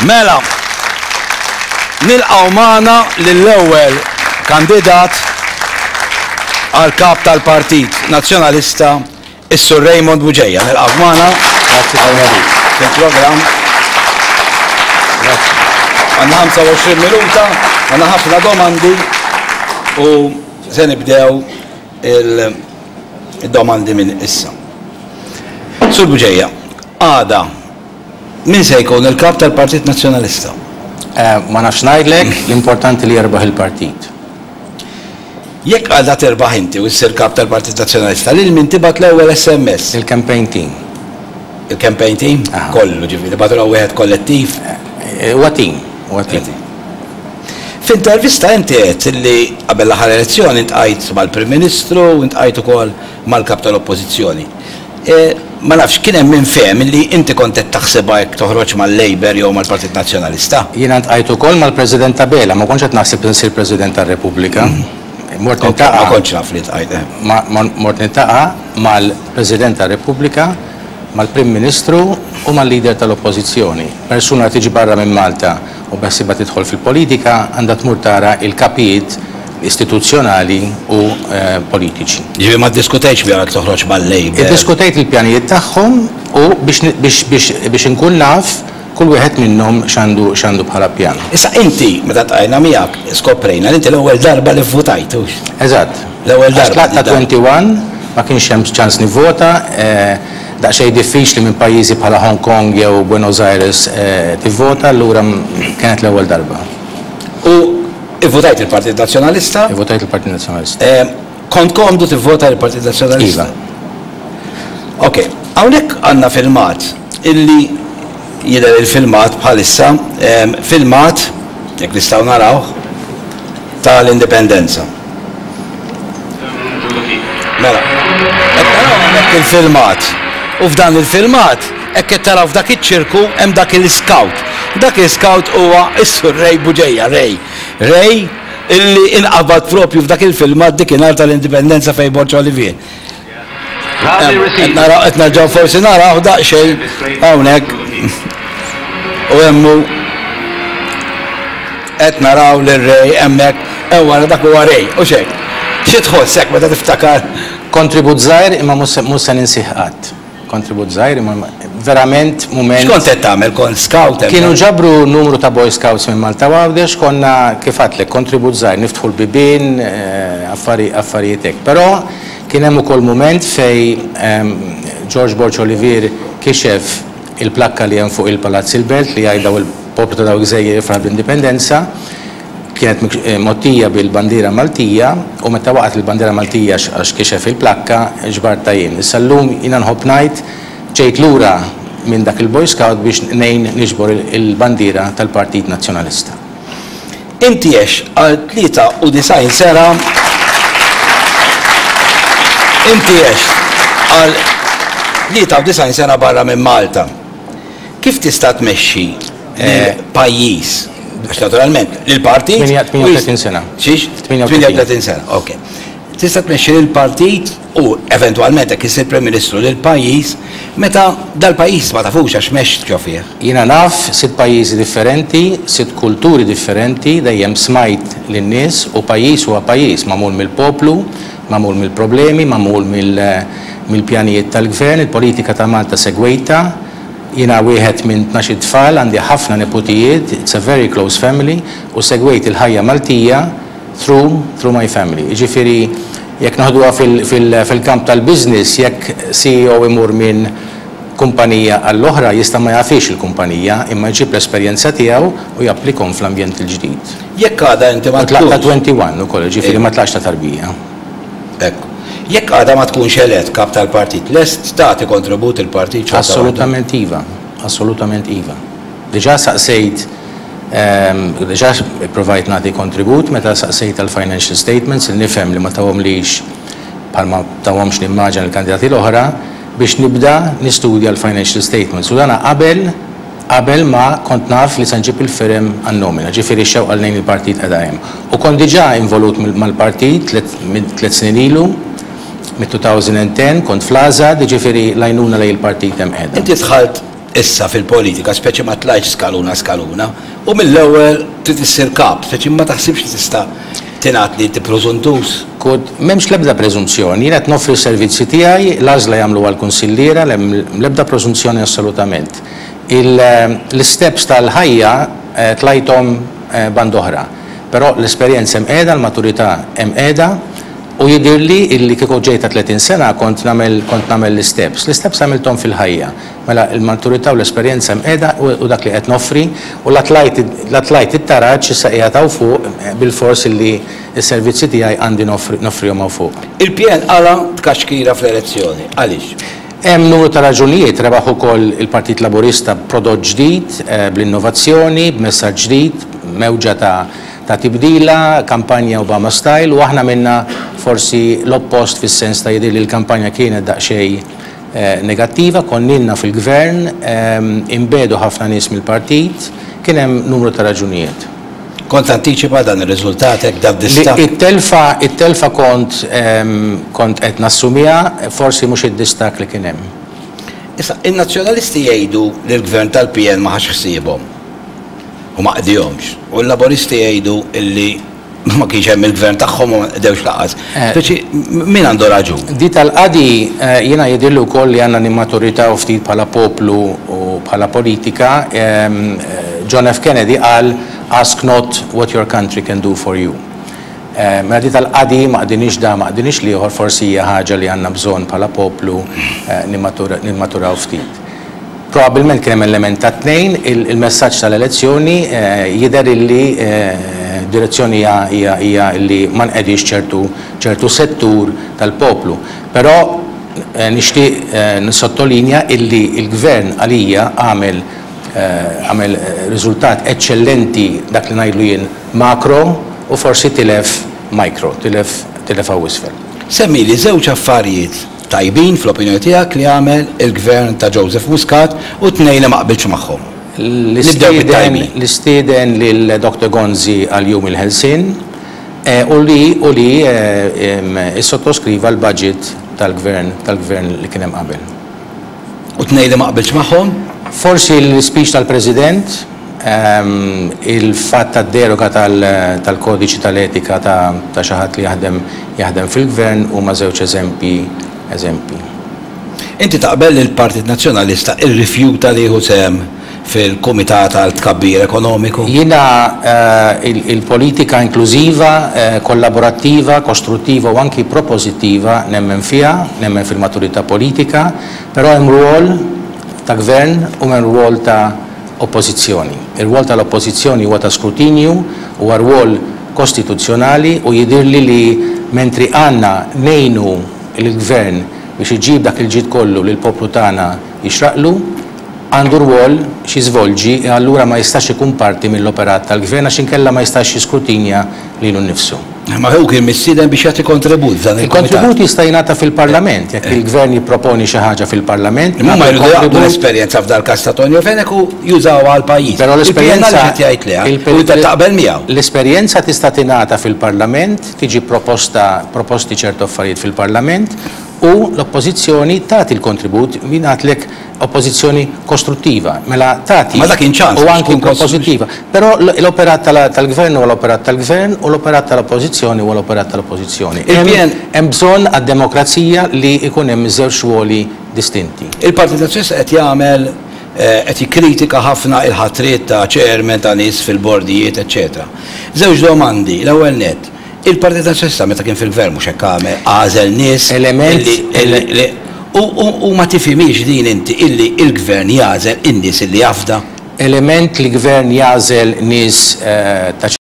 Mela, nilqgħu magħna lill-ewwel kandidat għal kap tal-Partit Nazzjonalista, is-Sur Raymond Bugeja. Nilqgħu magħna. Grazzi tal-invit. Fil-programm. Grazzi. Għandna 25 minuta, għandna ħafna domandi u se nibdew il-domandi minn issa. Sur Bugeja, għada min se jkun il-kap tal-Partit Nazzjonalista? Ma nafx ngħidlek, l-importanti li jerbaħ il-partit. Jekk għada terbaħ inti u ssir kap tal-Partit Nazzjonalista, lil min tibgħat l-ewwel SMS? Il-campaign team. Il-campaign team? Aha. Kollu, ġifieri tibgħatu wieħed kollettiv? Huwa team, huwa team. F'intervista inti għedt li qabel l-aħħar elezzjoni ltqajt mal-Prim Ministru u ltqajt ukoll mal-Kap tal-Oppożizzjoni. Ma nafx, kien hemm min fehem li inti kont qed taħsibha jekk toħroġ mal-Labour jew mal-Partit Nazzjonalista. Jiena ltqajt ukoll mal-President Abela, ma kontx qed naħseb li nsir President tar-Repubblika. Mort niltaqa'. Ma kontx naf li ltqajt, eh. Mort niltaqa' mal-President tar-Repubblika, mal-Prim Ministru u mal-Leader tal-Oppożizzjoni. Persuna li tiġi barra minn Malta u beħsiebha tidħol fil-politika għandha tmur tara l-kapijiet istituzzjonali u politiċi. Jiġifieri ma ddiskutejtx miegħu jekk toħroġ mal-Labour? Iddiskutejt il-pjanijiet tagħhom u biex biex biex biex inkun naf kull wieħed minnhom x'għandu x'għandu bħala pjan. Issa inti meta ltqajna miegħek skoprejna li inti l-ewwel darba li vvutajt, hux? Eżatt. L-ewwel darba. Għax tlaqt ta' 21 ma kienx hemm ċans nivvota. Daqsxejn diffiċli minn pajjiżi bħala Hong Kong jew Buenos Aires tivvota, allura kienet l-ewwel darba. U ivvutajt il-Partit Nazzjonalista? Ivvutajt il-Partit Nazzjonalista. Kont komdu tivvota l-Partit Nazzjonalista? Iva. Ok, hawnhekk għandna filmat illi jidher il-filmat bħalissa, filmat, jekk nistgħu narawh, tal-Indipendenza. Mela, qed taraw hawnhekk il-filmat. U f'dan il-filmat, hekk qed taraw f'dak iċ-ċirku hemm dak il-scout. Dak il-scout huwa s-Sur Ray Bugeja, Ray. Ray illi inqabad propju f'dak il-filmat dikinhar tal-Indipendenza fejn Borg Olivier. Qed naraw qed nerġgħu forsi naraw daqsxejn hawnhekk u hemm hu qed naraw lil Ray hemmhekk hemm wara dak huwa Ray u x'hekk. Xi tħoss hekk meta tiftakar? Kontribut żgħir imma mhux se ninsih qatt. Kontribut żgħir imma verament mument. X'kont qed tagħmel? Kont scout hemmhekk? Kienu ġabru numru ta' Boy Scouts minn Malta u Għawdex, konna kif għedtlek kontribut żgħir, niftħu l-bibien, affarijiet hekk. Però kien hemm ukoll mument fejn George Borg Olivier kixef il-plakka li hemm fuq il-Palazz il-Belt li jgħid daw il-poplu ta' dawk il-gżejjer jifraħ bl-Indipendenza. Kienet mgħottija bil-bandiera Maltija u meta waqgħet il-bandiera Maltija għax kixef il-plakka, ġbartha jien. Issa llum jiena nħobb ngħid ġejt lura minn dak il-Boy Scout biex ngħin niġbor il-bandiera tal-Partit Nazzjonalista. Inti għext għal 93 sena Inti għext għal 93 sena barra minn Malta. Kif tista' tmexxi lil pajjiż, għax naturalment lil partit. 38 sena. Xiex? 38 sena, ok. Tista' tmexxi lil partit u eventwalment jekk issir Prim Ministru lil pajjiż meta dal-pajjiż ma tafux għax m'għext ġo fih. Jiena naf sitt pajjiżi differenti, sitt kulturi differenti, dejjem smajt lin-nies u pajjiż huwa pajjiż magħmul mill-poplu, magħmul mill-problemi, magħmul mill-pjanijiet tal-gvern, il-politika ta' Malta segwejtha, Jiena wieħed minn tnax-il tfal, għandi ħafna neputijiet, it's a very close family, u segwejt il-ħajja Maltija through through my family. Jiġifieri jekk noħduha fil-kamp tal-business, jekk CEO imur minn kumpanija għall-oħra jista' ma jafhiex il-kumpanija imma jġib l-esperjenza tiegħu u japplikhom fl-ambjent il-ġdid. Jekk għada inti ma U tlaqt ta' tkunx. 21 ukoll, jiġifieri ma tlaqtx ta' tarbija. Ekku. Jekk għada ma tkunx elett kap tal-partit, lest tagħti kontribut il-partit xorta waħda? Assolutament iva. Assolutament iva. Diġà saqsejt, diġà ipprovajt nagħti kontribut meta saqsejt għall-financial statements li nifhem li ma tawhomlix bħalma tawhomx nimmaġina l-kandidati l-oħra biex nibda nistudja l-financial statements u dana qabel qabel ma kont naf li se nġib il-firem għan-nomina, ġifieri x-xewqa li ngħin il-partit qiegħda hemm. U kont diġà involut mal-partit tliet snin ilu, mit-2010 kont fl-AŻAD, jiġifieri l-għajnuna lejn il-partit hemm qiegħda. Inti dħalt issa fil-politika, speċi ma tlajtx skaluna skaluna, u mill-ewwel trid issir kap, speċi ma taħsibx li tista' tingħad li inti prużuntuż? Kod, M'hemmx l-ebda preżunzjoni. Jien qed noffri s-servizzi tiegħi, l-għażla jagħmluha l-kunsilliera, m'hemm l-ebda prożunzjoni assolutament. L-isteps tal-ħajja tlajthom band'oħra. Però l-esperjenza hemm qiegħda, l-maturità hemm qiegħda u jidhirli illi kieku ġejt ta' 30 sena kont nagħmel kont nagħmel l-isteps. L-isteps għamilthom fil-ħajja. Mela l-maturità u l-esperjenza hemm qiegħda u dak li qed noffri u la tlajt la tlajt it-taraġ issa qiegħed hawn fuq bilfors illi s-servizzi tiegħi għandi noffrihom hawn fuq. Il-PN qala' tkaxkira fl-elezzjoni. Għaliex? Hemm numru ta' raġunijiet, rebaħ ukoll il-Partit Laburista b'prodott ġdid, bl-innovazzjoni, b'messaġġ ġdid, mewġa ta' ta' tibdila, kampanja Obama style u aħna għamilna forsi l-oppost fis-sens ta' jidhirli l-kampanja kienet daqsxejn negattiva, konna ilna fil-Gvern, inbiegħdu ħafna nies mill-partit, kien hemm numru ta' raġunijiet. Kont tantiċipa dan ir-riżultat hekk dan distakk? It-telfa, it-telfa kont kont qed nassumiha, forsi mhux id-distakk li kien hemm. Issa, in-Nazzjonalisti jgħidu li l-Gvern tal-PN ma ħax ħsiebhom u ma qdihomx, u l-Laburisti jgħidu li ma kienx hemm il-Gvern tagħhom u ma nqdewx lanqas. Speċi, min għandu raġun? Di tal-qadi jiena jidhirli wkoll li għandna nimmaturitaw ftit bħala poplu u bħala politika. John F. Kennedy qal ask not what your country can do for you. Mela di tal-qadi ma qdinix da ma qdinix l-ieħor forsi hija ħaġa li għandna bżonn bħala poplu nimmaturaw ftit. Probabbilment kien hemm element tat-tnejn, il-messaġġ tal-elezzjoni jidher illi d-direzzjoni hija hija hija illi ma nqegħdix ċertu ċertu settur tal-poplu. Però nixtieq nissottolinja illi l-Gvern għalija għamel għamel riżultat eċċellenti dak li ngħidlu jien makro u forsi tilef micro, tilef tilef hawn isfel. Semmili żewġ affarijiet tajbin fl-opinjoni tiegħek li għamel il-Gvern ta' Joseph Muscat u tnejn li ma qbiltx magħhom. Nibdew bit-tajbin. Li stieden lil Doctor Gonzi għal Jum il-Ħelsien u li u li issottoskriva l-budget tal-Gvern tal-Gvern li kien hemm qabel. U tnejn li ma qbiltx magħhom? Forsi l-ispeech tal-President, il-fatt tad-deroga tal-kodiċi tal-etika ta' xi ħadd li jaħdem jaħdem fil-Gvern huma żewġ eżempji eżempji. Inti taqbel li l-Partit Nazzjonalista rrifjuta li jieħu sehem fil-Kumitat għal Tkabbir Ekonomiku? Jiena il-politika inklużiva, kollaborattiva, kostruttiva u anki propożittiva nemmen fiha, nemmen fil-maturità politika, però hemm rwol ta' Gvern u hemm rwol ta' Oppożizzjoni. Ir-rwol tal-Oppożizzjoni huwa ta' skrutinju, huwa rwol kostituzzjonali u jidhirli li mentri għandna ngħinu lill-Gvern biex iġib dak il-ġid kollu li l-poplu tagħna jixraqlu, għandu rwol x'jiżvolġi e allura ma jistax ikun parti mill-operat tal-Gvern għax inkella ma jistax jiskrutinja lilu nnifsu. Imma hu kien mistieden biex jagħti kontribut f'dan il-kumitat. Il-kontribut jista' jingħata fil-Parlament, jekk il-Gvern jipproponi xi ħaġa fil-Parlament, Imma huma nagħtu jridu jaqdu l-kontribut. l-esperjenza f'dal-każ ta' Tonio Fenech u jużawha għall-pajjiż. Però Il-PN l-esperjenza għaliex qed jgħid le u inti taqbel miegħu. L-esperjenza tista' tingħata fil-Parlament, tiġi proposta proposti ċertu affarijiet fil-Parlament u l-Oppożizzjoni tagħti l-kontribut, jien għedtlek oppożizzjoni kostruttiva, mela tagħti Ma dak kien ċans u biex anki tkun propożittiva. Però l-operat tal-Gvern huwa l-operat tal-Gvern u l-operat tal-Oppożizzjoni huwa l-operat tal-Oppożizzjoni. Il-PN Hemm bżonn għad-demokrazija li jkun hemm żewġ rwoli distinti. Il-Partit Nazzjonalista qed jagħmel qed jikkritika ħafna il-ħatriet ta' chairman ta' nies fil-bordijiet eċċetera. Żewġ domandi, l-ewwel nett, Il-Partit Nazzjonalista meta kien fil-Gvern mhux hekk għamel, għażel nies illi u ma tifhimhiex din inti illi l-Gvern jagħżel in-nies illi jafda? Element li Gvern jagħżel nies ta'.